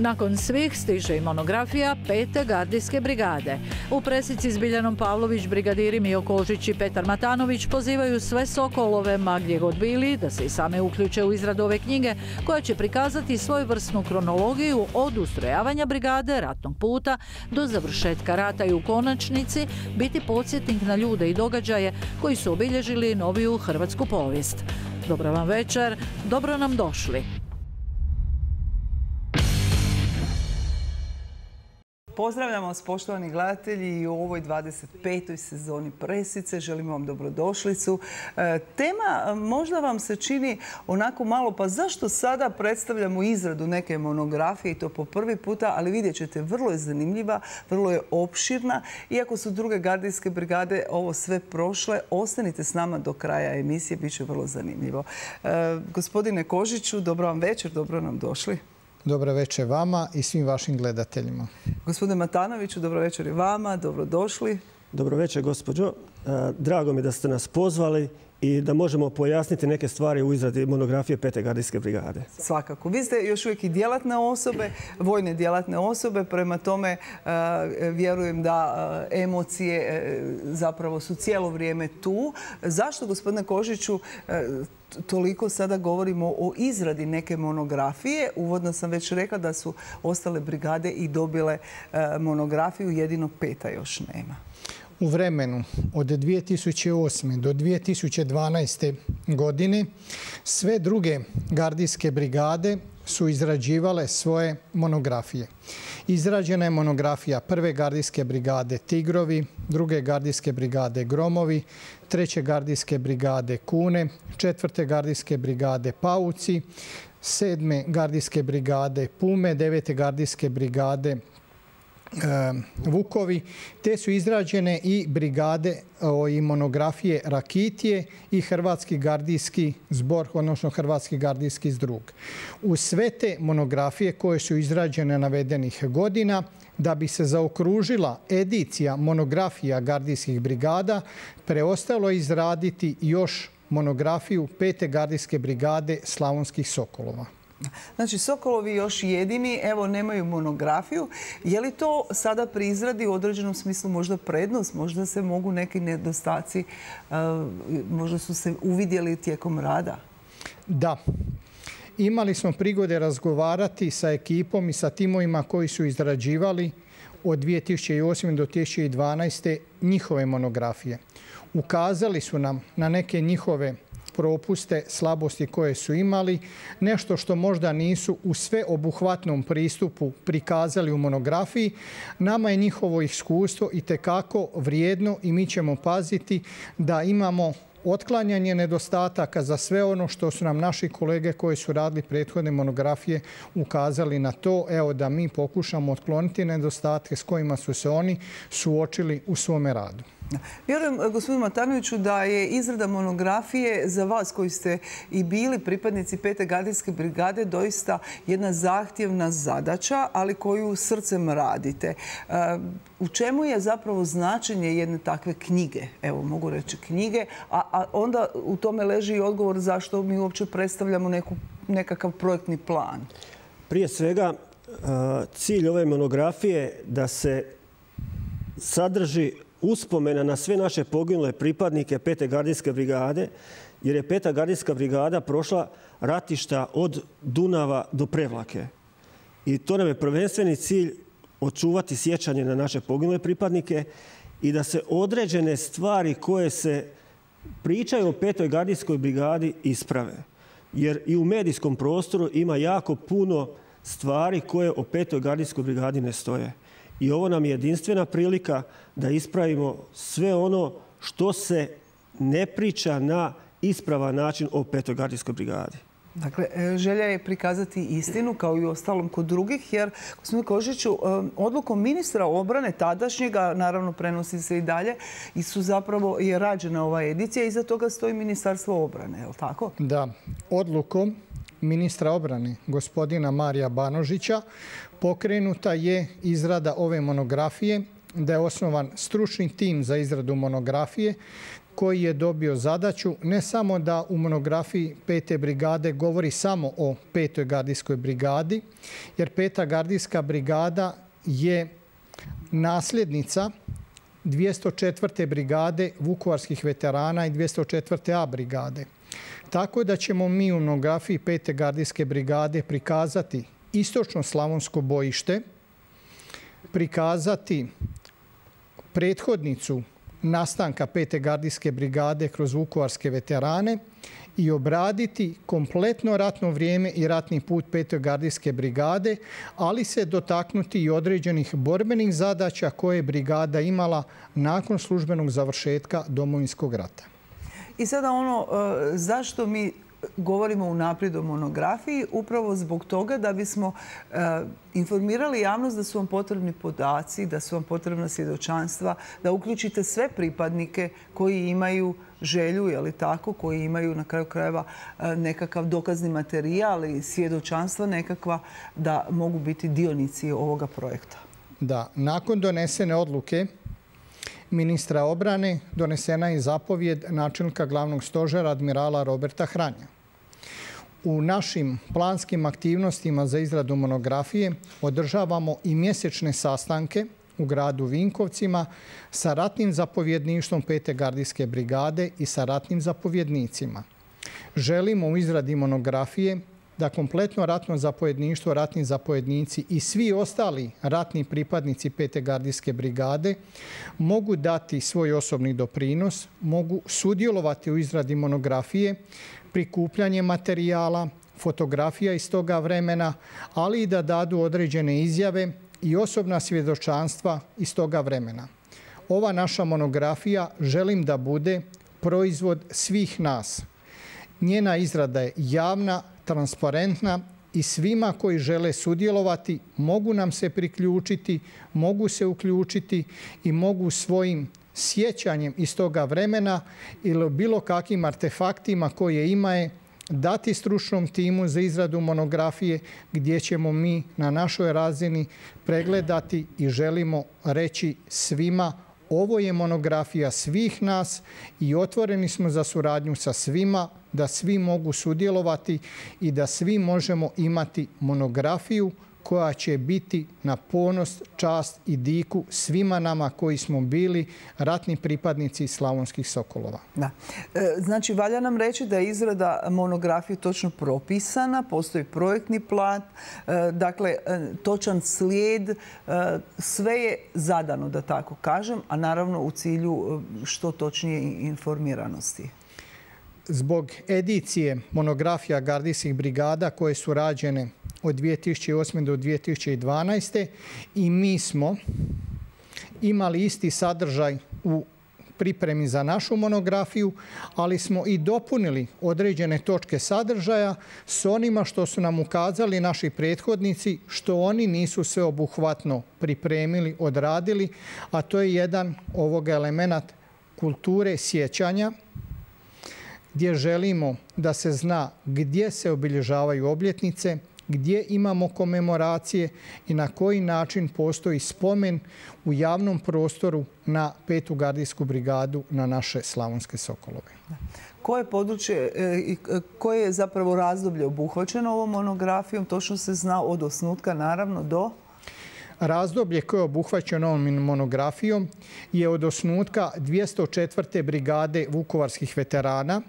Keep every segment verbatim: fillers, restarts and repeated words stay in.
Nakon svih stiže i monografija pete gardijske brigade. U presici s Biljanom Pavlović brigadiri Mijo Kožić i Petar Matanović pozivaju sve sokolove, ma gdje god bili, da se i same uključe u izradu ove knjige koja će prikazati svojevrsnu kronologiju od ustrojavanja brigade, ratnog puta do završetka rata i u konačnici biti podsjetnik na ljude i događaje koji su obilježili noviju hrvatsku povijest. Dobro vam večer, dobro nam došli. Pozdravljamo vas, poštovani gledatelji, i u ovoj dvadeset petoj sezoni Presice. Želimo vam dobrodošlicu. E, tema možda vam se čini onako malo, pa zašto sada predstavljamo izradu neke monografije i to po prvi puta, ali vidjet ćete, vrlo je zanimljiva, vrlo je opširna. Iako su druge gardijske brigade ovo sve prošle, ostanite s nama do kraja emisije, bit će vrlo zanimljivo. E, gospodine Kožiću, dobro vam večer, dobro nam došli. Dobro večer vama i svim vašim gledateljima. Gospodine Matanoviću, dobro večer i vama, dobrodošli. Dobro večer, gospođo. Drago mi da ste nas pozvali i da možemo pojasniti neke stvari u izradi monografije pete gardijske brigade. Svakako. Vi ste još uvijek i djelatne osobe, vojne djelatne osobe, prema tome vjerujem da emocije zapravo su cijelo vrijeme tu. Zašto, gospodine Kožiću, toliko sada govorimo o izradi neke monografije? Uvodno sam već rekla da su ostale brigade i dobile monografiju, jedino peta još nema. U vremenu od dvije tisuće osme do dvije tisuće dvanaeste. godine sve druge gardijske brigade su izrađivale svoje monografije. Izrađena je monografija prve gardijske brigade Tigrovi, druge gardijske brigade Gromovi, treće gardijske brigade Kune, četvrte gardijske brigade Pauci, sedme gardijske brigade Pume, devete gardijske brigade Vukovi, te su izrađene i brigade i monografije Rakitije i Hrvatski gardijski zbor, odnosno Hrvatski gardijski zdrug. U sve te monografije koje su izrađene navedenih godina, da bi se zaokružila edicija monografija gardijskih brigada, preostalo je izraditi još monografiju pete gardijske brigade Slavonskih sokolova. Znači, sokolovi još jedini, evo, nemaju monografiju. Je li to sada pri izradi u određenom smislu možda prednost? Možda se mogu neki nedostaci, možda su se uvidjeli tijekom rada? Da. Imali smo prigode razgovarati sa ekipom i sa timovima koji su izrađivali od dvije tisuće osme. do dvije tisuće dvanaeste. njihove monografije. Ukazali su nam na neke njihove propuste, slabosti koje su imali, nešto što možda nisu u sveobuhvatnom pristupu prikazali u monografiji. Nama je njihovo iskustvo itekako vrijedno i mi ćemo paziti da imamo otklanjanje nedostataka za sve ono što su nam naši kolege koji su radili prethodne monografije ukazali na to. Evo, da mi pokušamo otkloniti nedostatke s kojima su se oni suočili u svome radu. Vjerujem, gospodinu Matanoviću, da je izrada monografije za vas koji ste i bili pripadnici pete gardijske brigade doista jedna zahtjevna zadaća, ali koju srcem radite. U čemu je zapravo značenje jedne takve knjige? Evo, mogu reći knjige, a onda u tome leži i odgovor zašto mi uopće predstavljamo neku, nekakav projektni plan. Prije svega, cilj ove monografije da se sadrži uspomena na sve naše poginule pripadnike pete gardijske brigade, jer je peta gardijska brigada prošla ratišta od Dunava do Prevlake. I to nam je prvenstveni cilj očuvati sjećanje na naše poginule pripadnike i da se određene stvari koje se pričaju o petoj gardijskoj brigadi isprave. Jer i u medijskom prostoru ima jako puno stvari koje o petoj gardijskoj brigadi ne stoje. I ovo nam je jedinstvena prilika da ispravimo sve ono što se ne priča na ispravan način o petoj gardijskoj brigadi. Dakle, želja je prikazati istinu kao i ostalom kod drugih, jer, gospodine Kožiću, odlukom ministra obrane tadašnjega, naravno prenosi se i dalje, i su zapravo je rađena ova edicija i iza toga stoji Ministarstvo obrane, je li tako? Da, odlukom ministra obrane, gospodina Marija Banožića, pokrenuta je izrada ove monografije, da je osnovan stručni tim za izradu monografije, koji je dobio zadaću ne samo da u monografiji pete brigade govori samo o petoj gardijskoj brigadi, jer peta gardijska brigada je nasljednica dvjesto četvrte brigade vukovarskih veterana i dvjesto četvrte A brigade. Tako da ćemo mi u monografiji pete gardijske brigade prikazati istočno slavonsko bojište, prikazati prethodnicu nastanka pete gardijske brigade kroz vukovarske veterane i obraditi kompletno ratno vrijeme i ratni put pete gardijske brigade, ali se dotaknuti i određenih borbenih zadaća koje je brigada imala nakon službenog završetka Domovinskog rata. I sada ono, zašto mi govorimo unaprijed o monografiji? Upravo zbog toga da bismo informirali javnost da su vam potrebni podaci, da su vam potrebna svjedočanstva, da uključite sve pripadnike koji imaju želju, je li tako, koji imaju na kraju krajeva nekakav dokazni materijal i svjedočanstva nekakva da mogu biti dionici ovoga projekta. Da, nakon donesene odluke ministra obrane donesena je zapovjed načelnika glavnog stožera admirala Roberta Hranja. U našim planskim aktivnostima za izradu monografije održavamo i mjesečne sastanke u gradu Vinkovcima sa ratnim zapovjedništvom pete gardijske brigade i sa ratnim zapovjednicima. Želimo u izradi monografije da kompletno ratno zapovjedništvo, ratni zapovjednici i svi ostali ratni pripadnici pete gardijske brigade mogu dati svoj osobni doprinos, mogu sudjelovati u izradi monografije, prikupljanje materijala, fotografija iz toga vremena, ali i da dadu određene izjave i osobna svjedočanstva iz toga vremena. Ova naša monografija želim da bude proizvod svih nas. Njena izrada je javna, transparentna i svima koji žele sudjelovati mogu nam se priključiti, mogu se uključiti i mogu svojim sjećanjem iz toga vremena ili bilo kakvim artefaktima koje imaju dati stručnom timu za izradu monografije gdje ćemo mi na našoj razini pregledati i želimo reći svima ovo je monografija svih nas i otvoreni smo za suradnju sa svima, da svi mogu sudjelovati i da svi možemo imati monografiju koja će biti na ponos, čast i diku svima nama koji smo bili ratni pripadnici Slavonskih Sokolova. Da. Znači, valja nam reći da je izrada monografije točno propisana, postoji projektni plan, dakle, točan slijed, sve je zadano, da tako kažem, a naravno u cilju što točnije informiranosti. Zbog edicije monografija gardijskih brigada koje su rađene od dvije tisuće osme do dvije tisuće dvanaeste i mi smo imali isti sadržaj u pripremi za našu monografiju, ali smo i dopunili određene točke sadržaja s onima što su nam ukazali naši prethodnici, što oni nisu sveobuhvatno pripremili, odradili, a to je jedan ovog elemenat kulture sjećanja, gdje želimo da se zna gdje se obilježavaju obljetnice, gdje imamo komemoracije i na koji način postoji spomen u javnom prostoru na petu gardijsku brigadu, na naše Slavonske Sokolove. Koje područje i koje je zapravo razdoblje obuhvaćeno ovom monografijom? Točno se zna od osnutka naravno do... Razdoblje koje je obuhvaćeno ovom monografijom je od osnutka dvjesto četvrte brigade vukovarskih veterana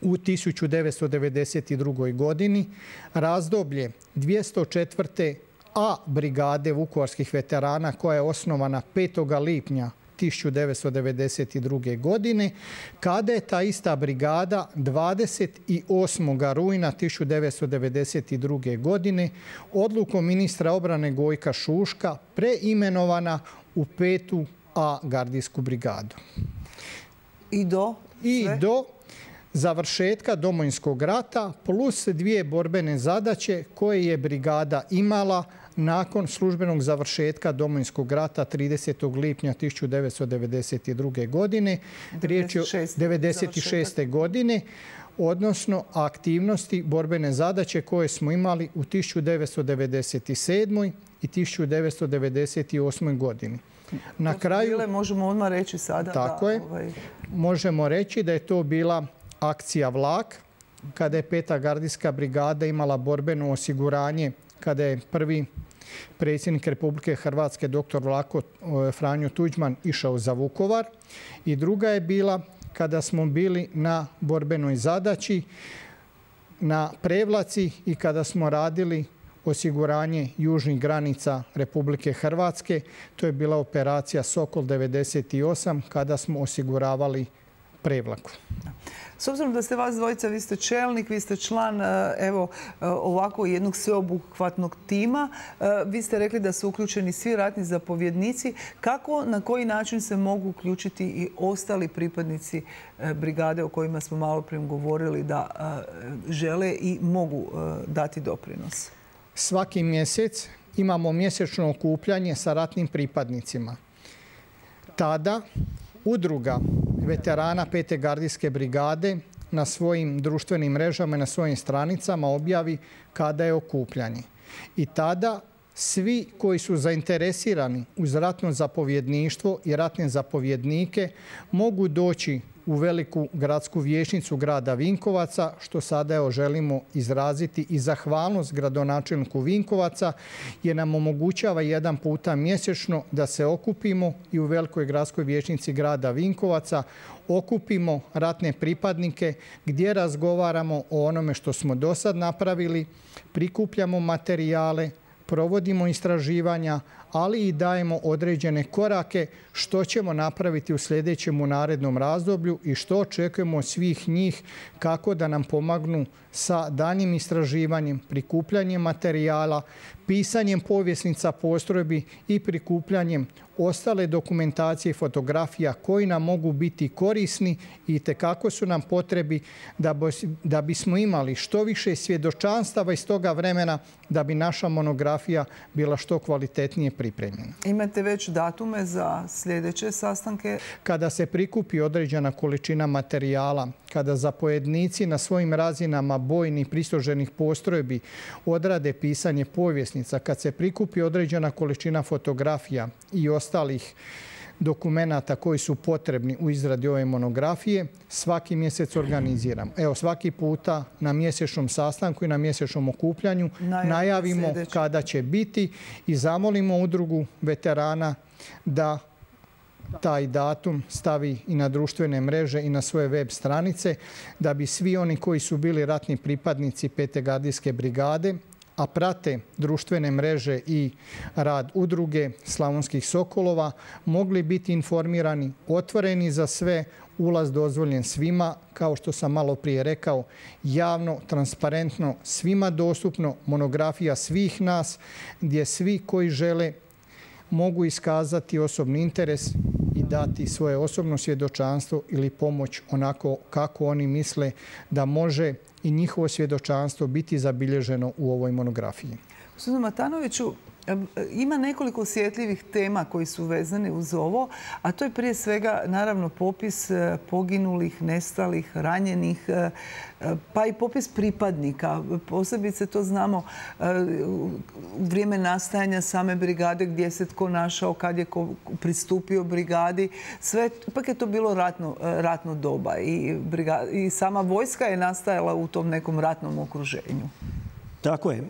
u tisuću devetsto devedeset drugoj. godini, razdoblje dvjesto četvrte A brigade vukovarskih veterana koja je osnovana petog lipnja tisuću devetsto devedeset druge. godine, kada je ta ista brigada dvadeset osmog rujna tisuću devetsto devedeset druge. godine odlukom ministra obrane Gojka Šuška preimenovana u petu A gardijsku brigadu. I do? I do završetka Domovinskog rata plus dvije borbene zadaće koje je brigada imala nakon službenog završetka Domovinskog rata tridesetog lipnja tisuću devetsto devedeset druge. godine, riječ je o devedeset šeste. godine, odnosno aktivnosti borbene zadaće koje smo imali u tisuću devetsto devedeset sedmoj. i tisuću devetsto devedeset osmoj. godini. Na kraju, možemo odmah reći sada. Tako je. Možemo reći da je to bila akcija Vlak, kada je peta gardijska brigada imala borbeno osiguranje, kada je prvi predsjednik Republike Hrvatske, doktor Vlako Franjo Tuđman, išao za Vukovar. I druga je bila kada smo bili na borbenoj zadaći, na Prevlaci i kada smo radili osiguranje južnih granica Republike Hrvatske. To je bila operacija Sokol devedeset osam kada smo osiguravali Prevlaku. S obzirom da ste vas dvojica, vi ste čelnik, vi ste član evo, ovako jednog sveobuhvatnog tima. Vi ste rekli da su uključeni svi ratni zapovjednici. Kako, na koji način se mogu uključiti i ostali pripadnici brigade o kojima smo malo prije govorili da žele i mogu dati doprinos? Svaki mjesec imamo mjesečno okupljanje sa ratnim pripadnicima. Tada udruga veterana pete gardijske brigade na svojim društvenim mrežama i na svojim stranicama objavi kada je okupljanje. I tada svi koji su zainteresirani uz ratno zapovjedništvo i ratne zapovjednike mogu doći u veliku gradsku vijećnicu grada Vinkovaca, što sada evo želimo izraziti i zahvalnost gradonačelniku Vinkovaca, jer nam omogućava jedan puta mjesečno da se okupimo i u velikoj gradskoj vijećnici grada Vinkovaca okupimo ratne pripadnike gdje razgovaramo o onome što smo do sad napravili, prikupljamo materijale, provodimo istraživanja, ali i dajemo određene korake što ćemo napraviti u sljedećem u narednom razdoblju i što očekujemo od svih njih kako da nam pomagnu sa daljnjim istraživanjem, prikupljanjem materijala, pisanjem povjesnica postrojbi i prikupljanjem ostale dokumentacije i fotografija koji nam mogu biti korisni i tekako su nam potrebi da, da bismo imali što više svjedočanstava iz toga vremena da bi naša monografija bila što kvalitetnije pripremljena. Imate već datume za sljedeće sastanke? Kada se prikupi određena količina materijala, kada zapovjednici na svojim razinama bojnih pristoženih postrojbi odrade pisanje povjesnica, kad se prikupi određena količina fotografija i ostalih dokumenata koji su potrebni u izradi ove monografije, svaki mjesec organiziramo. Evo, svaki puta na mjesečnom sastanku i na mjesečnom okupljanju najavimo kada će biti i zamolimo udrugu veterana da taj datum stavi i na društvene mreže i na svoje web stranice, da bi svi oni koji su bili ratni pripadnici pete gardijske brigade, a prate društvene mreže i rad udruge Slavonskih Sokolova, mogli biti informirani, otvoreni za sve, ulaz dozvoljen svima, kao što sam malo prije rekao, javno, transparentno, svima dostupno, monografija svih nas, gdje svi koji žele mogu iskazati osobni interes i dati svoje osobno svjedočanstvo ili pomoć onako kako oni misle da može i njihovo svjedočanstvo biti zabilježeno u ovoj monografiji. Gospodine Matanoviću, ima nekoliko osjetljivih tema koji su vezani uz ovo, a to je prije svega naravno popis poginulih, nestalih, ranjenih, pa i popis pripadnika. Posebice to znamo u vrijeme nastajanja same brigade, gdje se tko našao, kad je ko pristupio brigadi. Sve, ipak je to bilo ratno, ratno doba i, brigada, i sama vojska je nastajala u tom nekom ratnom okruženju. Tako je.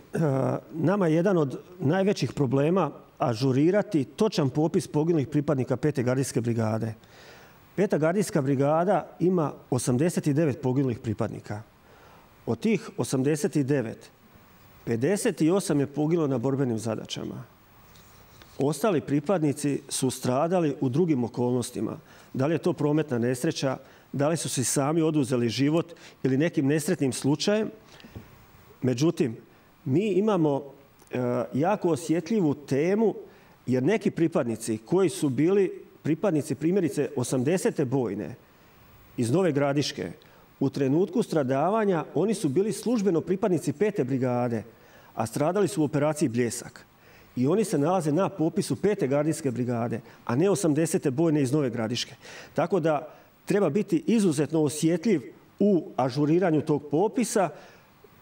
Nama je jedan od najvećih problema ažurirati točan popis poginulih pripadnika pete gardijske brigade. peta gardijska brigada ima osamdeset devet poginulih pripadnika. Od tih osamdeset devet, pedeset osam je poginulo na borbenim zadaćama. Ostali pripadnici su stradali u drugim okolnostima. Da li je to prometna nesreća, da li su si sami oduzeli život ili nekim nesretnim slučajem. Međutim, mi imamo e, jako osjetljivu temu jer neki pripadnici koji su bili pripadnici primjerice osamdesete bojne iz Nove Gradiške, u trenutku stradavanja oni su bili službeno pripadnici pete brigade, a stradali su u operaciji Bljesak. I oni se nalaze na popisu pete gardijske brigade, a ne osamdesete bojne iz Nove Gradiške. Tako da treba biti izuzetno osjetljiv u ažuriranju tog popisa.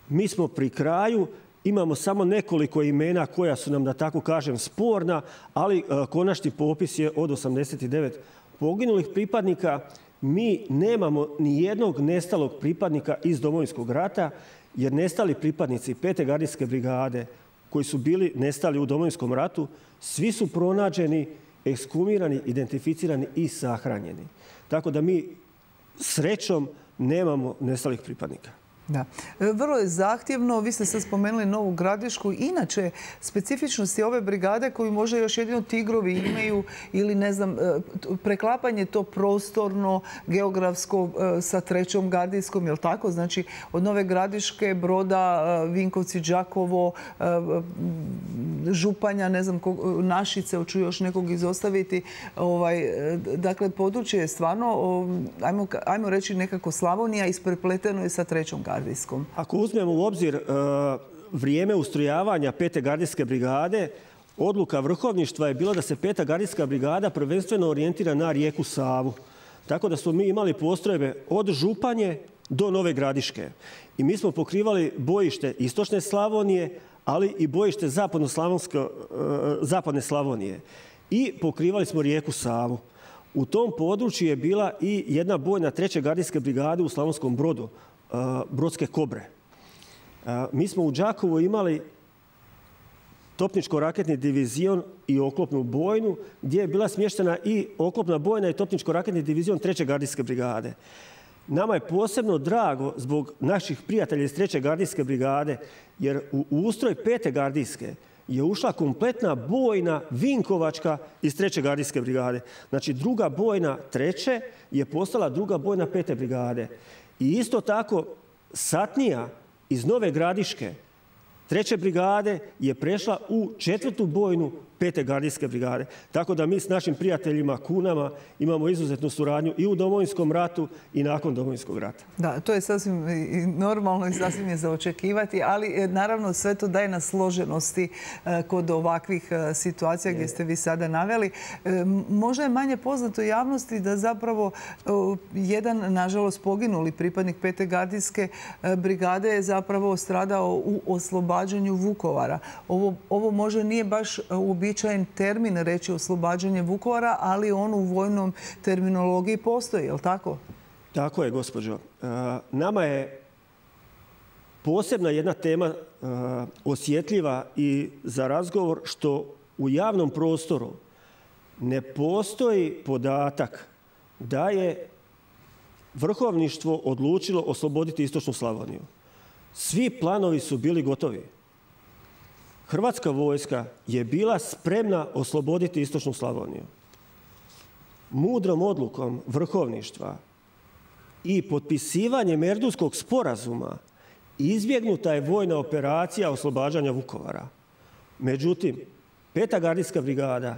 Mi smo pri kraju imamo samo nekoliko imena koja su nam, da tako kažem, sporna, ali konačni popis je od osamdeset devet poginulih pripadnika. Mi nemamo ni jednog nestalog pripadnika iz Domovinskog rata, jer nestali pripadnici pete gardijske brigade koji su bili nestali u Domovinskom ratu, svi su pronađeni, ekshumirani, identificirani i sahranjeni. Tako da mi srećom nemamo nestalih pripadnika. Da. Vrlo je zahtjevno. Vi ste sad spomenuli Novu Gradišku. Inače, specifičnosti ove brigade koju možda još jedino Tigrovi imaju ili ne znam, preklapanje to prostorno, geografsko sa trećom gardijskom, je li tako? Znači, od Nove Gradiške, Broda, Vinkovci, Đakovo, Županja, ne znam, Našice, hoću još nekog izostaviti. Dakle, područje je stvarno, ajmo reći nekako Slavonija, isprepleteno je sa trećom gardijskom. Ako uzmemo u obzir vrijeme ustrojavanja pete gardijske brigade, odluka vrhovništva je bila da se peta gardijska brigada prvenstveno orijentira na rijeku Savu. Tako da smo mi imali postrojbe od Županje do Nove Gradiške. I mi smo pokrivali bojište istočne Slavonije, ali i bojište zapadne Slavonije. I pokrivali smo rijeku Savu. U tom području je bila i jedna bojna treće gardijske brigade u Slavonskom Brodu, Brodske Kobre. Mi smo u Đakovu imali topničko-raketni divizion i oklopnu bojnu, gdje je bila smještena i oklopna bojna i topničko-raketni divizion treće gardijske brigade. Nama je posebno drago zbog naših prijatelja iz treće gardijske brigade, jer u ustroj pete gardijske je ušla kompletna bojna Vinkovačka iz treće gardijske brigade. Znači, druga bojna treće je postala druga bojna pete brigade. I isto tako, satnija iz Nove Gradiške treće brigade je prešla u četvrtu bojnu pete gardijske brigade. Tako da mi s našim prijateljima Kunama imamo izuzetnu suradnju i u Domovinskom ratu i nakon Domovinskog rata. Da, to je sasvim normalno i sasvim je za očekivati, ali naravno sve to daje na složenosti kod ovakvih situacija gdje ste vi sada naveli. Možda je manje poznato javnosti da zapravo jedan, nažalost, poginuli pripadnik pete gardijske brigade je zapravo stradao u oslobađanju Vukovara. Ovo, ovo možda nije baš uobičajeno termin reći oslobađanje Vukovara, ali on u vojnom terminologiji postoji, je li tako? Tako je, gospođo. Nama je posebna jedna tema osjetljiva i za razgovor što u javnom prostoru ne postoji podatak da je vrhovništvo odlučilo osloboditi istočnu Slavoniju. Svi planovi su bili gotovi. Hrvatska vojska je bila spremna osloboditi istočnu Slavoniju. Mudrom odlukom vrhovništva i potpisivanjem Erdutskog sporazuma izbjegnuta je vojna operacija oslobađanja Vukovara. Međutim, peta gardijska brigada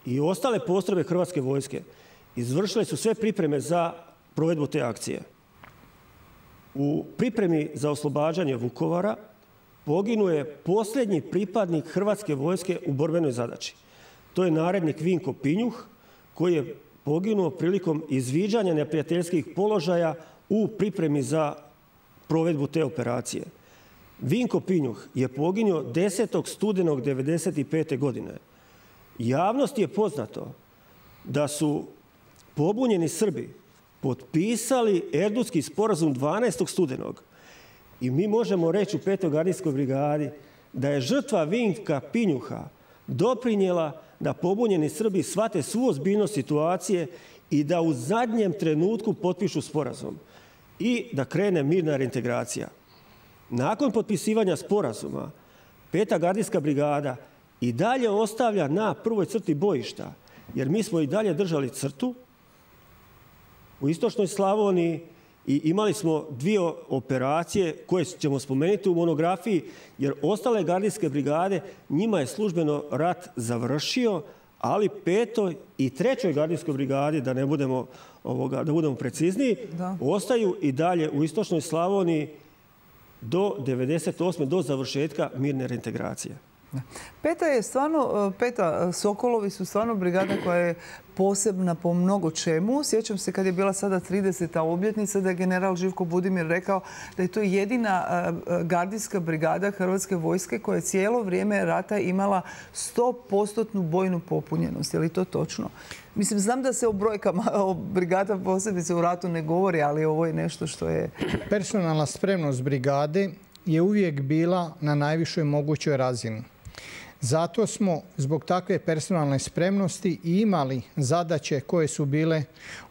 i ostale postrojbe Hrvatske vojske izvršile su sve pripreme za provedbu te akcije. U pripremi za oslobađanje Vukovara poginuo je posljednji pripadnik Hrvatske vojske u borbenoj zadaći. To je narednik Vinko Pinjuh, koji je poginuo prilikom izviđanja neprijateljskih položaja u pripremi za provedbu te operacije. Vinko Pinjuh je poginuo desetog studenog devedeset pete godine. Javnosti je poznato da su pobunjeni Srbi potpisali Erdutski sporazum dvanaestog studenog. I mi možemo reći u petoj gardijskoj brigadi da je žrtva Vinka Pinjuha doprinijela da pobunjeni Srbi shvate svu ozbiljnost situacije i da u zadnjem trenutku potpišu sporazum i da krene mirna reintegracija. Nakon potpisivanja sporazuma, peta gardijska brigada i dalje ostavlja na prvoj crti bojišta, jer mi smo i dalje držali crtu u istočnoj Slavoniji i imali smo dvije operacije koje ćemo spomenuti u monografiji, jer ostale gardijske brigade, njima je službeno rat završio, ali petoj i trećoj gardijskoj brigadi, da ne budemo, ovoga, da budemo precizniji, da. ostaju i dalje u istočnoj Slavoniji do devedeset osme do završetka mirne reintegracije. Peta je stvarno, Peta, Sokolovi su stvarno brigada koja je posebna po mnogo čemu. Sjećam se kad je bila sada trideseta obljetnica da je general Živko Budimir rekao da je to jedina gardijska brigada Hrvatske vojske koja je cijelo vrijeme rata imala sto posto bojnu popunjenost. Je li to točno? Mislim, znam da se o brojkama o brigada posebice u ratu ne govori, ali ovo je nešto što je... Personalna spremnost brigade je uvijek bila na najvišoj mogućoj razini. Zato smo zbog takve personalne spremnosti i imali zadaće koje su bile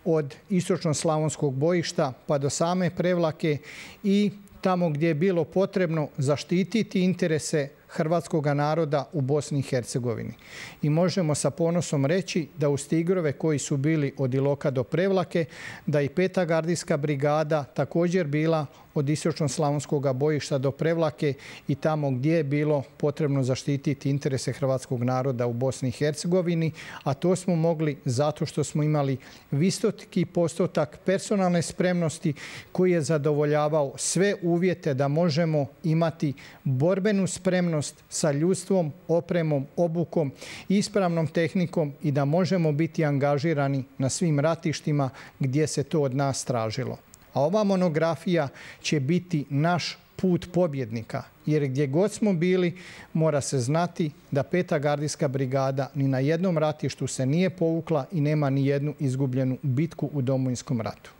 od istočno-slavonskog bojišta pa do same Prevlake i tamo gdje je bilo potrebno zaštititi interese hrvatskog naroda u Bosni i Hercegovini. I možemo sa ponosom reći da uz tigrove koji su bili od Iloka do Prevlake, da i peta gardijska brigada također bila od istočno-slavonskog bojišta do Prevlake i tamo gdje je bilo potrebno zaštititi interese hrvatskog naroda u Bosni i Hercegovini, a to smo mogli zato što smo imali visoki postotak personalne spremnosti koji je zadovoljavao sve uvjete da možemo imati borbenu spremnost sa ljudstvom, opremom, obukom, ispravnom tehnikom i da možemo biti angažirani na svim ratištima gdje se to od nas tražilo. A ova monografija će biti naš put pobjednika, jer gdje god smo bili mora se znati da peta gardijska brigada ni na jednom ratištu se nije povukla i nema ni jednu izgubljenu bitku u Domovinskom ratu.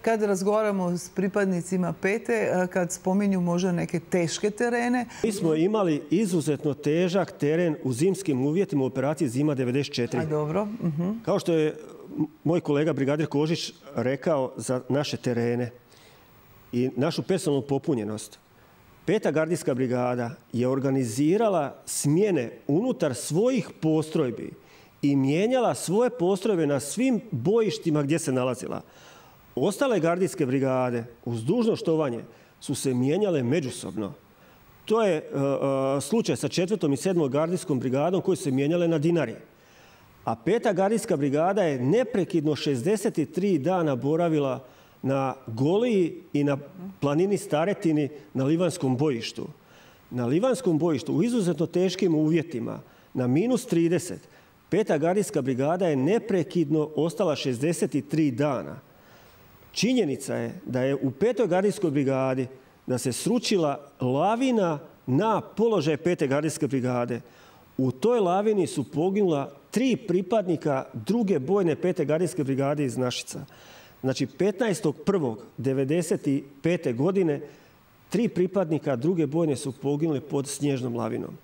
Kad razgovaramo s pripadnicima pete, kad spominju možda neke teške terene... Mi smo imali izuzetno težak teren u zimskim uvjetima u operaciji Zima devedeset četiri. A dobro. Uh-huh. Kao što je moj kolega brigadir Kožić rekao za naše terene i našu personalnu popunjenost, peta gardijska brigada je organizirala smjene unutar svojih postrojbi i mijenjala svoje postrojbe na svim bojištima gdje se nalazila. Ostale gardijske brigade, uz dužno štovanje, su se mijenjale međusobno. To je uh, uh, slučaj sa četvrtom i sedmom gardijskom brigadom koji su se mijenjale na Dinari. A peta gardijska brigada je neprekidno šezdeset tri dana boravila na Goliji i na planini Staretini na Livanskom bojištu. Na Livanskom bojištu u izuzetno teškim uvjetima, na minus trideset, peta gardijska brigada je neprekidno ostala šezdeset tri dana. Činjenica je da je u petoj gardijskoj brigadi da se sručila lavina na položaj pete gardijske brigade. U toj lavini su poginula tri pripadnika druge bojne pete gardijske brigade iz Našica. Znači, petnaestog prvog devedeset pete godine tri pripadnika druge bojne su poginuli pod snježnom lavinom.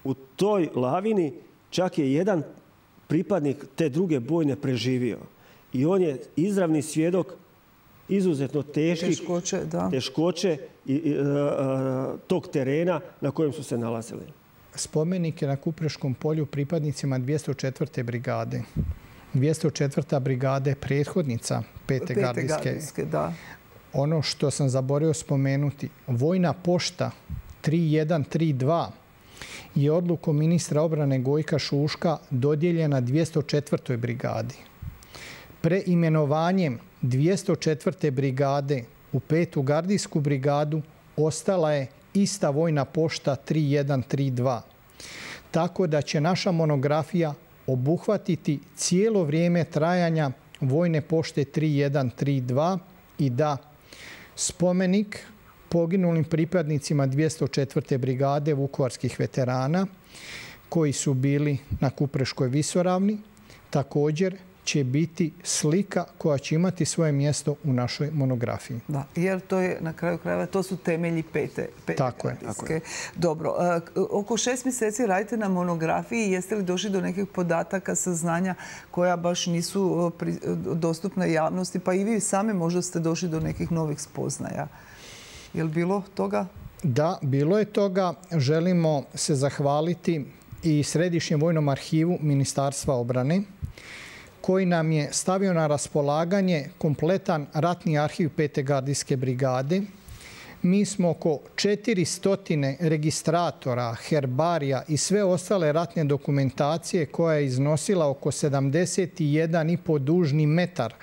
U toj lavini čak je jedan pripadnik te druge bojne preživio. I on je izravni svjedok izuzetno teških teškoće, da. teškoće i, i, a, tog terena na kojem su se nalazili. Spomenik je na Kupreškom polju pripadnicima dvjesto četvrte brigade. dvjesto četvrta brigada je prethodnica pete gardijske. gardijske da. Ono što sam zaboravio spomenuti, vojna pošta tri jedan tri dva je odlukom ministra obrane Gojka Šuška dodijeljena dvjesto četvrtoj brigadi. Preimenovanjem dvjesto četvrte brigade u petu gardijsku brigadu ostala je ista vojna pošta tri jedan tri dva. Tako da će naša monografija obuhvatiti cijelo vrijeme trajanja vojne pošte tri jedan tri dva i da spomenik poginulim pripadnicima dvjesto četvrte brigade vukovarskih veterana koji su bili na Kupreškoj visoravni također će biti slika koja će imati svoje mjesto u našoj monografiji. Da, jer to je na kraju krajeva, to su temelji pete, pete tako je, tako je. Dobro, uh, oko šest mjeseci radite na monografiji. Jeste li došli do nekih podataka, saznanja koja baš nisu pri, dostupna javnosti? Pa i vi sami možda ste došli do nekih novih spoznaja. Je li bilo toga? Da, bilo je toga. Želimo se zahvaliti i Središnjem vojnom arhivu Ministarstva obrane koji nam je stavio na raspolaganje kompletan ratni arhiv pete gardijske brigade. Mi smo oko četiristo registratora, herbarija i sve ostale ratne dokumentacije koja je iznosila oko sedamdeset jedan i po dužni metar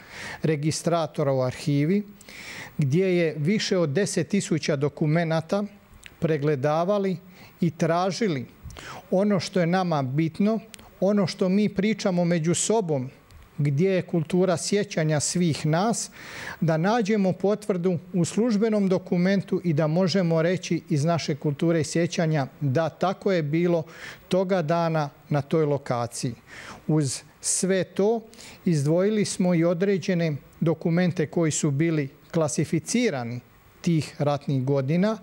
registratora u arhivi, gdje je više od deset tisuća dokumenata pregledavali i tražili ono što je nama bitno, ono što mi pričamo među sobom, gdje je kultura sjećanja svih nas, da nađemo potvrdu u službenom dokumentu i da možemo reći iz naše kulture sjećanja da tako je bilo toga dana na toj lokaciji. Uz sve to izdvojili smo i određene dokumente koji su bili klasificirani tih ratnih godina.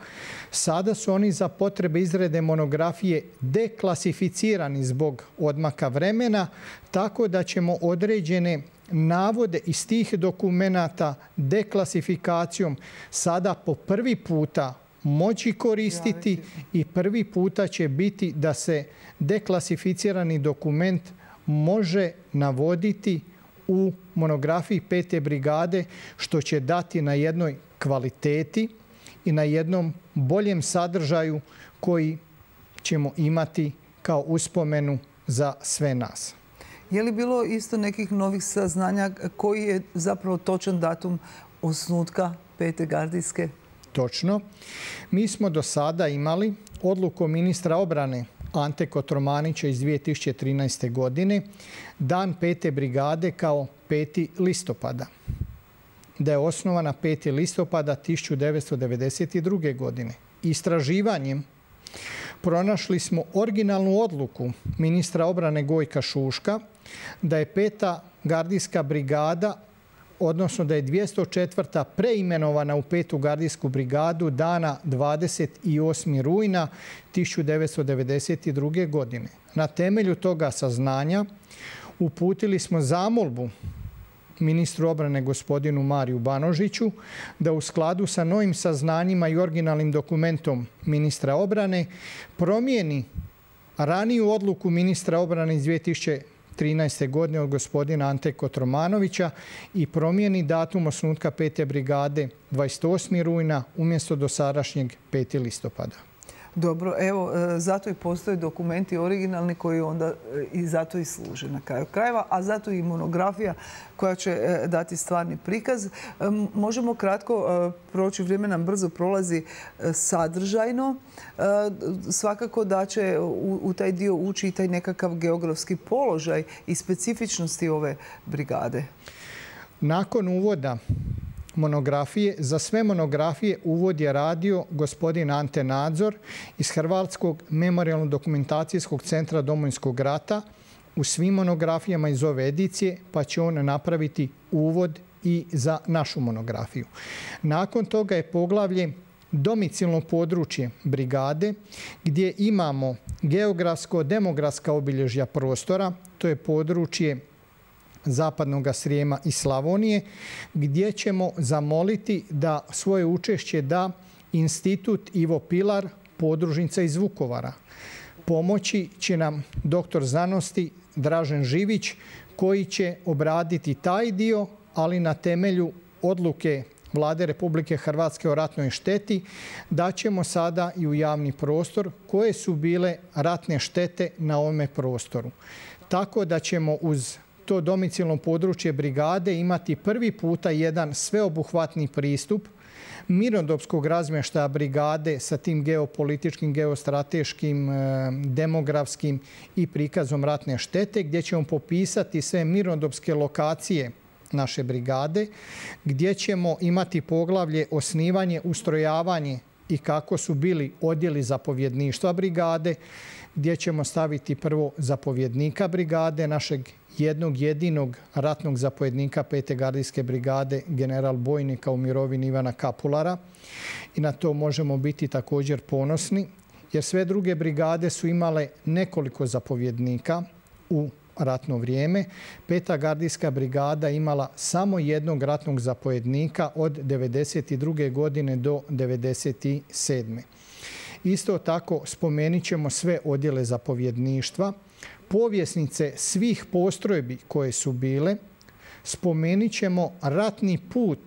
Sada su oni za potrebe izrade monografije deklasificirani zbog odmaka vremena, tako da ćemo određene navode iz tih dokumenata deklasifikacijom sada po prvi puta moći koristiti i prvi puta će biti da se deklasificirani dokument može navoditi u monografiji pete brigade, što će dati na jednoj kvaliteti i na jednom boljem sadržaju koji ćemo imati kao uspomenu za sve nas. Je li bilo isto nekih novih saznanja koji je zapravo točan datum osnutka pete gardijske? Točno. Mi smo do sada imali odluku ministra obrane Ante Kotromanića iz dvije tisuće trinaeste. godine, dan pete brigade kao peti listopada. Da je osnovana peti listopada tisuću devetsto devedeset druge. godine. Istraživanjem pronašli smo originalnu odluku ministra obrane Gojka Šuška da je peta gardijska brigada, odnosno da je dvjesto četvrta preimenovana u petu gardijsku brigadu dana dvadeset osmog rujna tisuću devetsto devedeset druge. godine. Na temelju toga saznanja uputili smo zamolbu ministru obrane gospodinu Mariju Banožiću da u skladu sa novim saznanjima i originalnim dokumentom ministra obrane promijeni raniju odluku ministra obrane iz dvije tisuće trinaeste. godine od gospodina Ante Kotromanovića i promijeni datum osnutka pete brigade dvadeset osmog rujna umjesto dosadašnjeg peti listopada. Dobro, evo, zato i postoje dokumenti originalni koji onda i zato i služe na kraju krajeva, a zato i monografija koja će dati stvarni prikaz. Možemo kratko proći, vrijeme nam brzo prolazi sadržajno. Svakako da će u taj dio ući i taj nekakav geografski položaj i specifičnosti ove brigade. Nakon uvoda monografije, za sve monografije uvod je radio gospodin Ante Nadzor iz Hrvatskog memorijalno-dokumentacijskog centra Domovinskog rata u svim monografijama iz ove edicije, pa će on napraviti uvod i za našu monografiju. Nakon toga je poglavlje domicilno područje brigade, gdje imamo geografsko-demografska obilježja prostora, to je područje Zapadnog Srijema i Slavonije, gdje ćemo zamoliti da svoje učešće da Institut Ivo Pilar, podružnica iz Vukovara. Pomoći će nam doktor znanosti Dražen Živić, koji će obraditi taj dio, ali na temelju odluke Vlade Republike Hrvatske o ratnoj šteti daćemo sada i u javni prostor koje su bile ratne štete na ovome prostoru. Tako da ćemo uz to domicilno područje brigade imati prvi puta jedan sveobuhvatni pristup mirnodopskog razmještaja brigade sa tim geopolitičkim, geostrateškim, demografskim i prikazom ratne štete, gdje ćemo popisati sve mirnodopske lokacije naše brigade, gdje ćemo imati poglavlje osnivanje, ustrojavanje i kako su bili odjeli zapovjedništva brigade, gdje ćemo staviti prvo zapovjednika brigade, našeg jednog jedinog ratnog zapovjednika pete gardijske brigade, general bojnika u mirovini Ivana Kapulara. I na to možemo biti također ponosni, jer sve druge brigade su imale nekoliko zapovjednika u ratno vrijeme. Peta gardijska brigada imala samo jednog ratnog zapovjednika od devedeset druge. godine do devedeset sedme. Isto tako spomenut ćemo sve odjele zapovjedništva, povjesnice svih postrojbi koje su bile, spomenut ćemo ratni put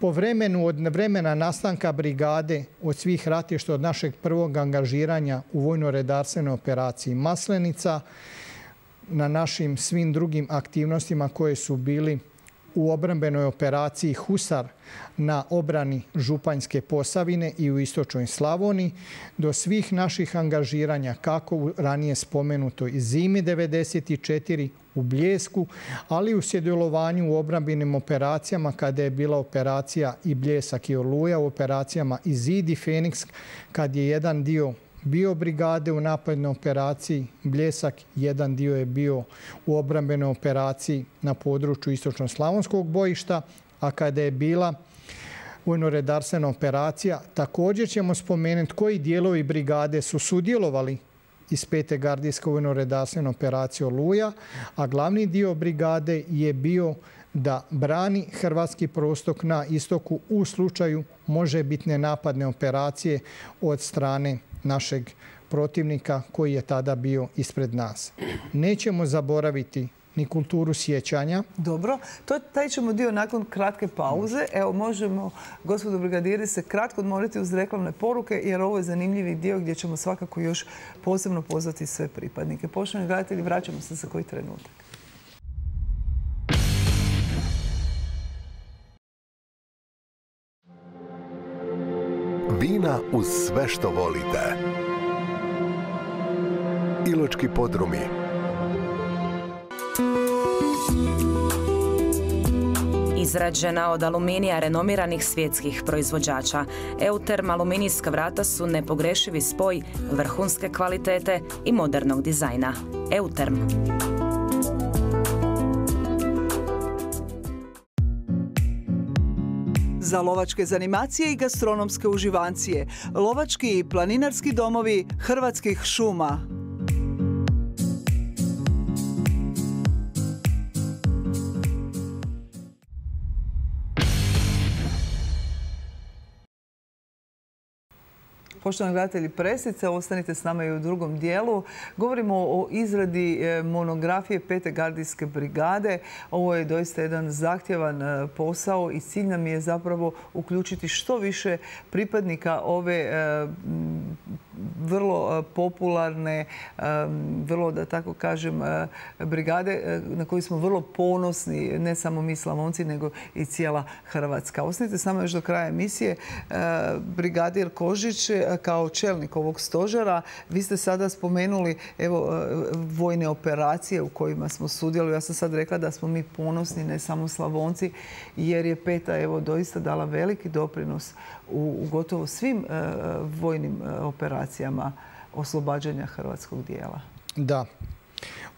po vremenu od vremena nastanka brigade od svih ratišta od našeg prvog angažiranja u vojno-redarstvenoj operaciji Maslenica, na našim svim drugim aktivnostima koje su bili u obrambenoj operaciji Husar na obrani Županjske Posavine i u istočnoj Slavoniji, do svih naših angažiranja, kako u ranije spomenutoj zimi devedeset četiri u Bljesku, ali u sudjelovanju u obrambenim operacijama kada je bila operacija i Bljesak i Oluja, u operacijama i Zid i Feniks, kad je jedan dio bio brigade u napadnoj operaciji Bljesak, jedan dio je bio u obrambenoj operaciji na području istočno-slavonskog bojišta, a kada je bila vojno-redarstvena operacija, također ćemo spomenuti koji dijelovi brigade su sudjelovali iz pete gardijske vojno-redarstvene operacije Oluja, a glavni dio brigade je bio da brani hrvatski prostor na istoku u slučaju možebitne napadne operacije od strane našeg protivnika koji je tada bio ispred nas. Nećemo zaboraviti ni kulturu sjećanja. Dobro, to, taj ćemo dio nakon kratke pauze. Evo, možemo, gospodo brigadiri, se kratko odmoriti uz reklamne poruke, jer ovo je zanimljivi dio gdje ćemo svakako još posebno pozvati sve pripadnike. Poštovani gledatelji, vraćamo se za koji trenutak. Vina uz sve što volite. Iločki podrumi. Izrađena od aluminija renomiranih svjetskih proizvođača, Euterm aluminijska vrata su nepogrešivi spoj vrhunske kvalitete i modernog dizajna. Euterm. Za lovačke zanimacije i gastronomske uživancije. Lovački i planinarski domovi Hrvatskih šuma. Poštovani gledatelji Presice, ostanite s nama i u drugom dijelu. Govorimo o izradi monografije pete gardijske brigade. Ovo je doista jedan zahtjevan posao i cilj nam je zapravo uključiti što više pripadnika ove vrlo popularne, vrlo, da tako kažem, brigade na koju smo vrlo ponosni, ne samo mi Slavonci, nego i cijela Hrvatska. Ostanite s nama još do kraja emisije. Brigadir Kožić, kao čelnik ovog stožera, vi ste sada spomenuli evo, vojne operacije u kojima smo sudjelovali. Ja sam sad rekla da smo mi ponosni, ne samo Slavonci, jer je peta evo, doista dala veliki doprinos u, u gotovo svim uh, vojnim uh, operacijama oslobađanja hrvatskog dijela. Da.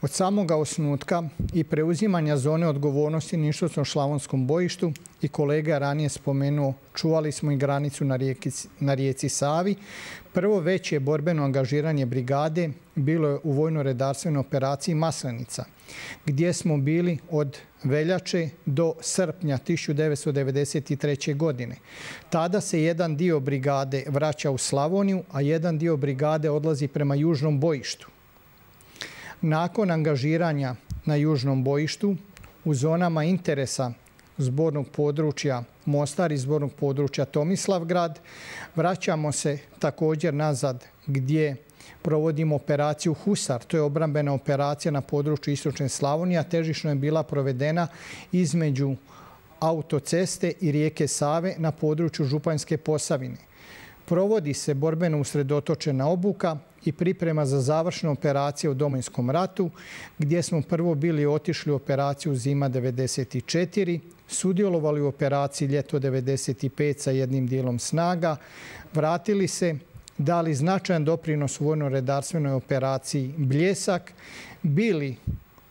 Od samoga osnutka i preuzimanja zone odgovornosti na istočno-slavonskom bojištu, i kolega ranije spomenuo, čuvali smo i granicu na, rijeki, na rijeci Savi. Prvo veće borbeno angažiranje brigade bilo je u vojno-redarstvenoj operaciji Maslenica, gdje smo bili od veljače do srpnja tisuću devetsto devedeset treće. godine. Tada se jedan dio brigade vraća u Slavoniju, a jedan dio brigade odlazi prema južnom bojištu. Nakon angažiranja na južnom bojištu u zonama interesa zbornog područja Mostar i zbornog područja Tomislavgrad, vraćamo se također nazad gdje provodimo operaciju Husar. To je obrambena operacija na području istočne Slavonije, a težišno je bila provedena između autoceste i rijeke Save na području Županjske Posavine. Provodi se borbeno usredotočena obuka i priprema za završne operacije u Domovinskom ratu, gdje smo prvo bili otišli u operaciju Zima devedeset četiri, sudjelovali u operaciji Ljeto devedeset pet sa jednim dijelom snaga, vratili se, dali značajan doprinos u vojno-redarstvenoj operaciji Bljesak, bili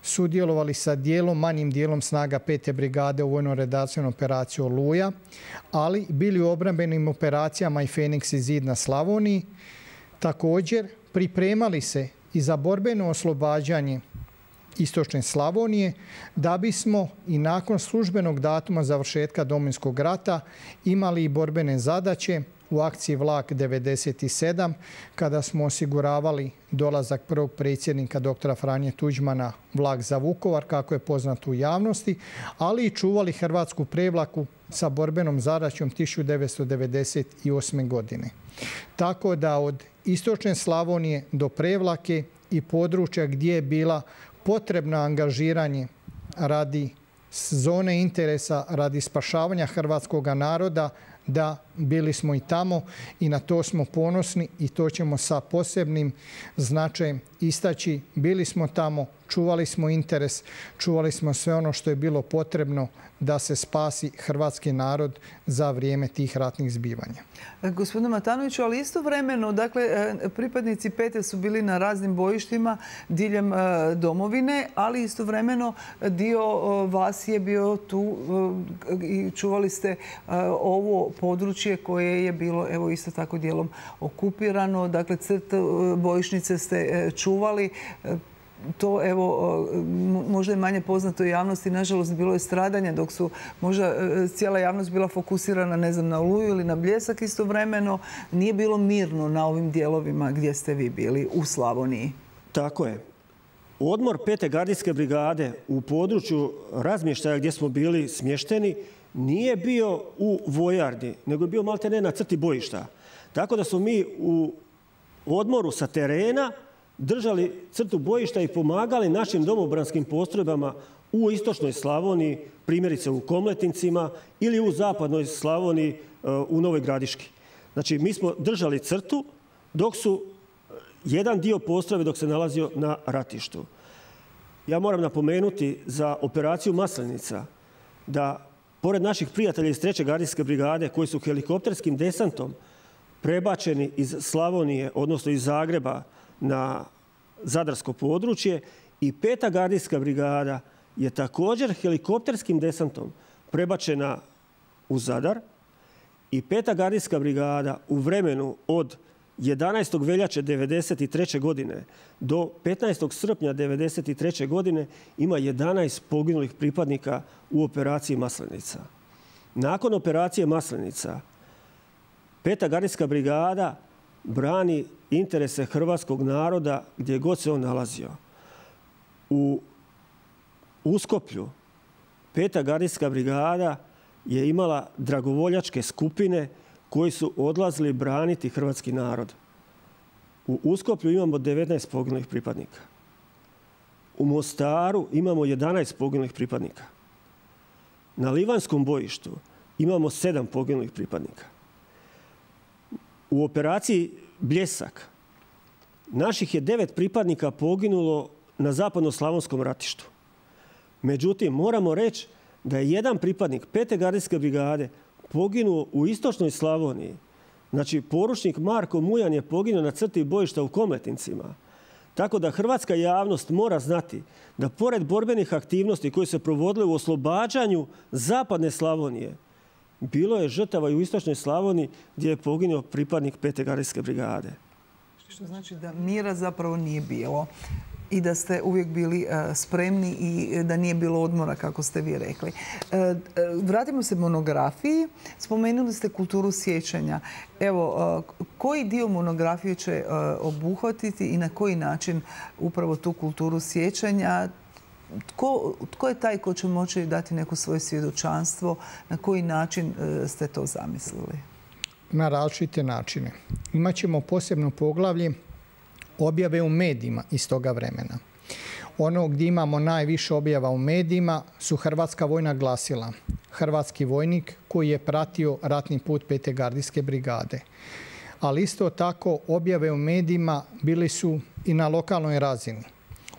sudjelovali sa dijelom, manjim dijelom snaga pete brigade u vojno-redarstvenoj operaciji Oluja, ali bili u obrambenim operacijama i Feniks i Zid na Slavoniji. Također pripremali se i za borbeno oslobađanje istočne Slavonije, da bismo i nakon službenog datuma završetka Domovinskog rata imali i borbene zadaće u akciji Vlak devedeset sedam, kada smo osiguravali dolazak prvog predsjednika doktora Franje Tuđmana Vlak za Vukovar, kako je poznato u javnosti, ali i čuvali Hrvatsku Prevlaku sa borbenom zadaćom tisuću devetsto devedeset osme. godine. Tako da od istočne Slavonije do Prevlake i područja gdje je bila potrebno angažiranje radi zone interesa radi spašavanja hrvatskog naroda, da, bili smo i tamo i na to smo ponosni i to ćemo sa posebnim značajem istaći. Bili smo tamo, čuvali smo interes, čuvali smo sve ono što je bilo potrebno da se spasi hrvatski narod za vrijeme tih ratnih zbivanja. Gospodine Matanoviću, ali istovremeno, dakle, pripadnici pete su bili na raznim bojištima diljem domovine, ali istovremeno dio vas je bio tu i čuvali ste ovo područje koje je bilo, evo, isto tako dijelom okupirano. Dakle, crt bojišnice ste čuvali. To, evo, možda je manje poznato javnosti. Nažalost, bilo je stradanja dok su možda cijela javnost bila fokusirana, ne znam, na Oluju ili na Bljesak istovremeno. Nije bilo mirno na ovim dijelovima gdje ste vi bili u Slavoniji. Tako je. Odmor pete gardijske brigade u području razmještaja gdje smo bili smješteni nije bio u vojarni, nego je bio maltene na crti bojišta. Tako da smo mi u odmoru sa terena držali crtu bojišta i pomagali našim domobranskim postrojbama u istočnoj Slavoniji, primjerice u Komletincima, ili u zapadnoj Slavoniji u Novoj Gradiški. Znači, mi smo držali crtu dok su jedan dio postrojbe dok se nalazio na ratištu. Ja moram napomenuti za operaciju Maslenica da, pored naših prijatelja iz treće gardijske brigade koji su helikopterskim desantom prebačeni iz Slavonije, odnosno iz Zagreba, na zadarsko područje, i peta gardijska brigada je također helikopterskim desantom prebačena u Zadar, i peta gardijska brigada u vremenu od jedanaestog veljače devedeset treće godine do petnaestog srpnja devedeset treće godine ima jedanaest poginulih pripadnika u operaciji Maslenica. Nakon operacije Maslenica peta gardijska brigada brani interese hrvatskog naroda gdje god se on nalazio. U Uskoplju peta gardijska brigada je imala dragovoljačke skupine koji su odlazili braniti hrvatski narod. U Uskoplju imamo devetnaest poginulih pripadnika. U Mostaru imamo jedanaest poginulih pripadnika. Na Livanjskom bojištu imamo sedam poginulih pripadnika. U operaciji Bljesak naših je devet pripadnika poginulo na zapadno-slavonskom ratištu. Međutim, moramo reći da je jedan pripadnik pete gardijske brigade poginuo u istočnoj Slavoniji. Znači, poručnik Marko Mujan je poginuo na crti bojišta u Komletincima. Tako da hrvatska javnost mora znati da pored borbenih aktivnosti koje se provodile u oslobađanju zapadne Slavonije, bilo je žrtava i u istočnoj Slavoniji gdje je poginuo pripadnik pete gardijske brigade. Što znači da mira zapravo nije bilo i da ste uvijek bili spremni i da nije bilo odmora, kako ste vi rekli. Vratimo se monografiji. Spomenuli ste kulturu sjećanja. Evo, koji dio monografije će obuhvatiti i na koji način upravo tu kulturu sjećanja? Tko, tko je taj ko će moći dati neko svoje svjedočanstvo? Na koji način ste to zamislili? Na različite načine. Imaćemo posebno poglavlje objave u medijima iz toga vremena. Ono gdje imamo najviše objava u medijima su Hrvatska vojna glasila. Hrvatski vojnik koji je pratio ratni put pete gardijske brigade. Ali isto tako objave u medijima bili su i na lokalnoj razini.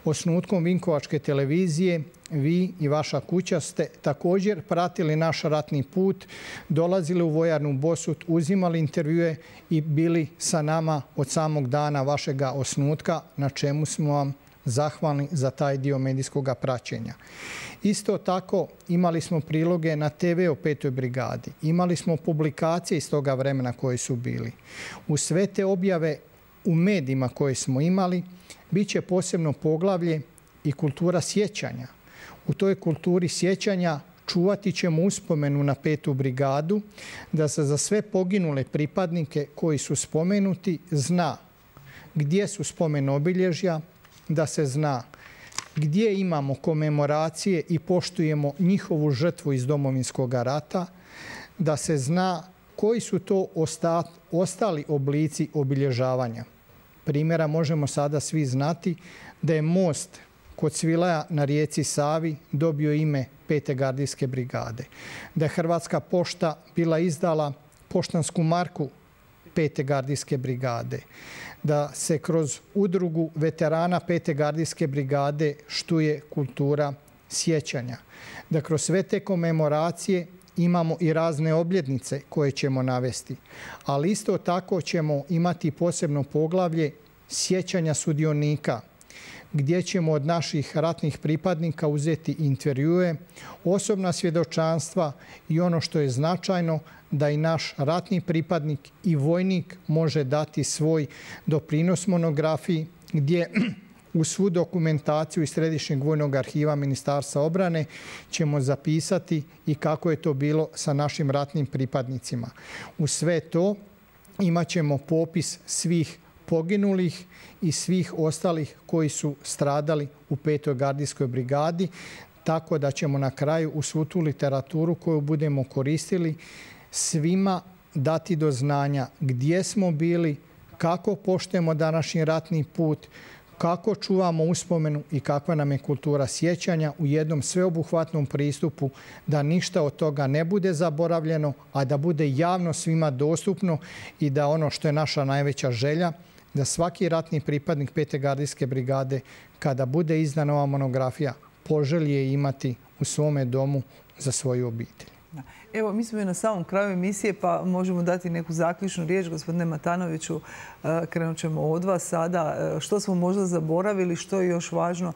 Osnutkom Vinkovačke televizije vi i vaša kuća ste također pratili naš ratni put, dolazili u vojarnu Bosut, uzimali intervjue i bili sa nama od samog dana vašega osnutka, na čemu smo vam zahvalni za taj dio medijskog praćenja. Isto tako imali smo priloge na te ve o petoj brigadi. Imali smo publikacije iz toga vremena koje su bili. U sve te objave u medijima koje smo imali bit će posebno poglavlje i kultura sjećanja. U toj kulturi sjećanja čuvati ćemo uspomenu na petu brigadu, da se za sve poginule pripadnike koji su spomenuti zna gdje su spomen obilježja, da se zna gdje imamo komemoracije i poštujemo njihovu žrtvu iz Domovinskog rata, da se zna koji su to ostali oblici obilježavanja. Primjera možemo sada svi znati da je most kod Svilaja na rijeci Savi dobio ime pete gardijske brigade. Da je Hrvatska pošta bila izdala poštansku marku pete gardijske brigade. Da se kroz udrugu veterana pete gardijske brigade štuje kultura sjećanja. Da kroz sve te komemoracije imamo i razne obljednice koje ćemo navesti. Ali isto tako ćemo imati posebno poglavlje sjećanja sudionika, gdje ćemo od naših ratnih pripadnika uzeti intervjue, osobna svjedočanstva i ono što je značajno, da i naš ratni pripadnik i vojnik može dati svoj doprinos monografiji, gdje u svu dokumentaciju iz Središnjeg vojnog arhiva Ministarstva obrane ćemo zapisati i kako je to bilo sa našim ratnim pripadnicima. U sve to imat ćemo popis svih poginulih i svih ostalih koji su stradali u petoj gardijskoj brigadi, tako da ćemo na kraju u svu tu literaturu koju budemo koristili svima dati do znanja gdje smo bili, kako poštujemo današnji ratni put, kako čuvamo uspomenu i kakva nam je kultura sjećanja u jednom sveobuhvatnom pristupu, da ništa od toga ne bude zaboravljeno, a da bude javno svima dostupno i da ono što je naša najveća želja, da svaki ratni pripadnik pete gardijske brigade, kada bude izdana ova monografija, poželi je imati u svome domu za svoju obitelj. Evo, mi smo na samom kraju emisije, pa možemo dati neku zaključnu riječ. Gospodine Matanoviću, krenut ćemo od vas sada. Što smo možda zaboravili, što je još važno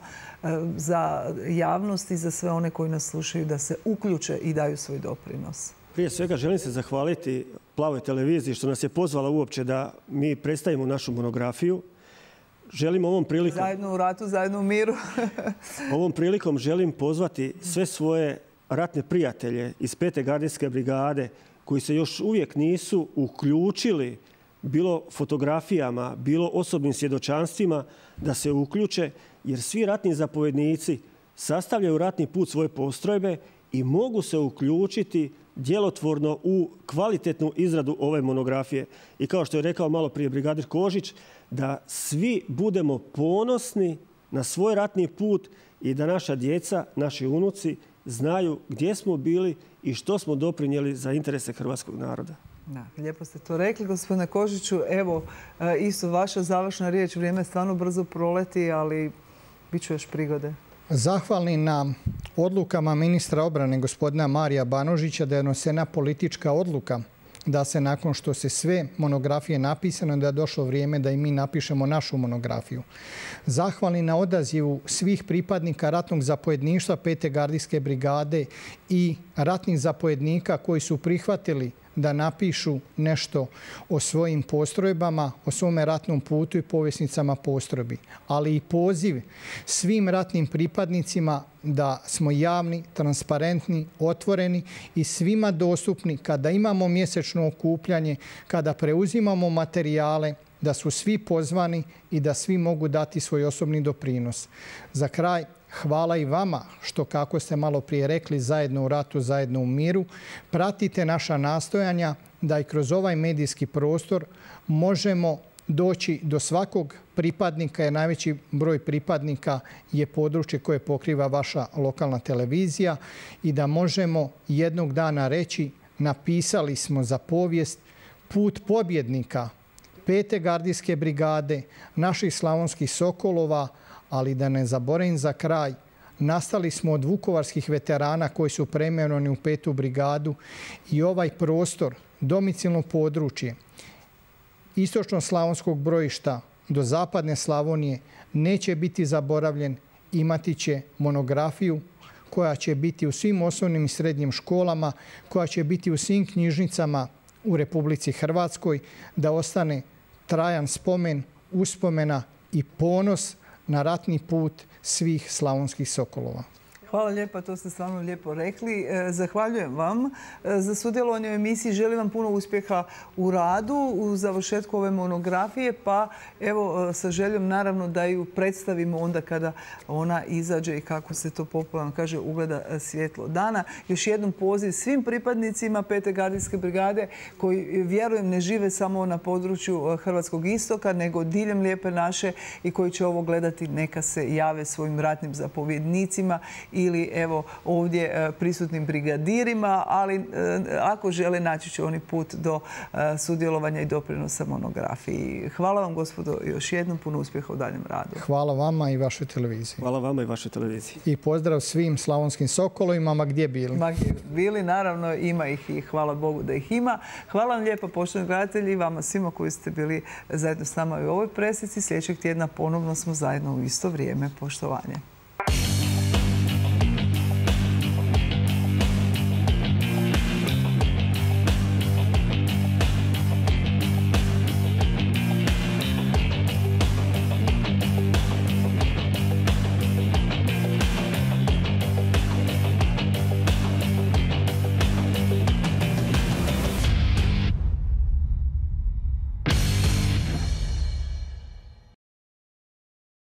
za javnost i za sve one koji nas slušaju da se uključe i daju svoj doprinos? Prije svega želim se zahvaliti Plavoj televiziji što nas je pozvala uopće da mi predstavimo našu monografiju. Želim ovom prilikom... Zajedno u ratu, zajedno u miru. Ovom prilikom želim pozvati sve svoje ratne prijatelje iz pete gardijske brigade koji se još uvijek nisu uključili bilo fotografijama, bilo osobnim svjedočanstvima da se uključe, jer svi ratni zapovjednici sastavljaju ratni put svoje postrojbe i mogu se uključiti djelotvorno u kvalitetnu izradu ove monografije. I kao što je rekao malo prije brigadir Kožić, da svi budemo ponosni na svoj ratni put i da naša djeca, naši unuci znaju gdje smo bili i što smo doprinijeli za interese hrvatskog naroda. Da, lijepo ste to rekli, gospodine Kožiću. Evo, isto vaša završna riječ. Vrijeme stvarno brzo proleti, ali bit će još prigode. Zahvalni na odlukama ministra obrane gospodina Marija Banožića da je donesena politička odluka da se nakon što se sve monografije napisano, da je došlo vrijeme da i mi napišemo našu monografiju. Zahvalni na odazivu svih pripadnika ratnog zapovjedništva pete gardijske brigade i ratnih zapovjednika koji su prihvatili da napišu nešto o svojim postrojbama, o svome ratnom putu i povjesnicama postrojbi. Ali i poziv svim ratnim pripadnicima da smo javni, transparentni, otvoreni i svima dostupni kada imamo mjesečno okupljanje, kada preuzimamo materijale, da su svi pozvani i da svi mogu dati svoj osobni doprinos. Za kraj, hvala i vama što, kako ste malo prije rekli, zajedno u ratu, zajedno u miru, pratite naša nastojanja da i kroz ovaj medijski prostor možemo doći do svakog pripadnika, jer najveći broj pripadnika je područje koje pokriva vaša lokalna televizija, i da možemo jednog dana reći: napisali smo za povijest put pobjednika pete gardijske brigade, naših slavonskih sokolova, ali da ne zaboravim za kraj, nastali smo od vukovarskih veterana koji su preimenovani u petu brigadu i ovaj prostor, domicilno područje istočno-slavonskog brojišta do zapadne Slavonije neće biti zaboravljen. Imati će monografiju koja će biti u svim osnovnim i srednjim školama, koja će biti u svim knjižnicama u Republici Hrvatskoj, da ostane trajan spomen, uspomena i ponos na ratni put svih slavonskih sokolova. Hvala lijepa, to ste stvarno lijepo rekli. Zahvaljujem vam za sudjelovanje u emisiji. Želim vam puno uspjeha u radu, u završetku ove monografije, pa evo sa željom naravno da ju predstavimo onda kada ona izađe i kako se to popularno kaže ugleda svjetlo dana. Još jednom poziv svim pripadnicima pete gardijske brigade koji vjerujem ne žive samo na području Hrvatskog istoka nego diljem Lijepe naše i koji će ovo gledati neka se jave svojim ratnim zapovjednicima ili evo ovdje prisutnim brigadirima, ali ako žele naći će oni put do sudjelovanja i doprinosa monografiji. Hvala vam gospodo još jednom, puno uspjeha u daljem radu. Hvala vama i vašoj televiziji. Hvala vama i vašoj televiziji. I pozdrav svim slavonskim sokolovima, ma gdje bili. Ma gdje bili, naravno ima ih i hvala Bogu da ih ima. Hvala vam lijepo poštovani gledatelji i vama svima koji ste bili zajedno s nama u ovoj presici. Sljedećeg tjedna ponovno smo zajedno u isto vrijeme. Poštovanje.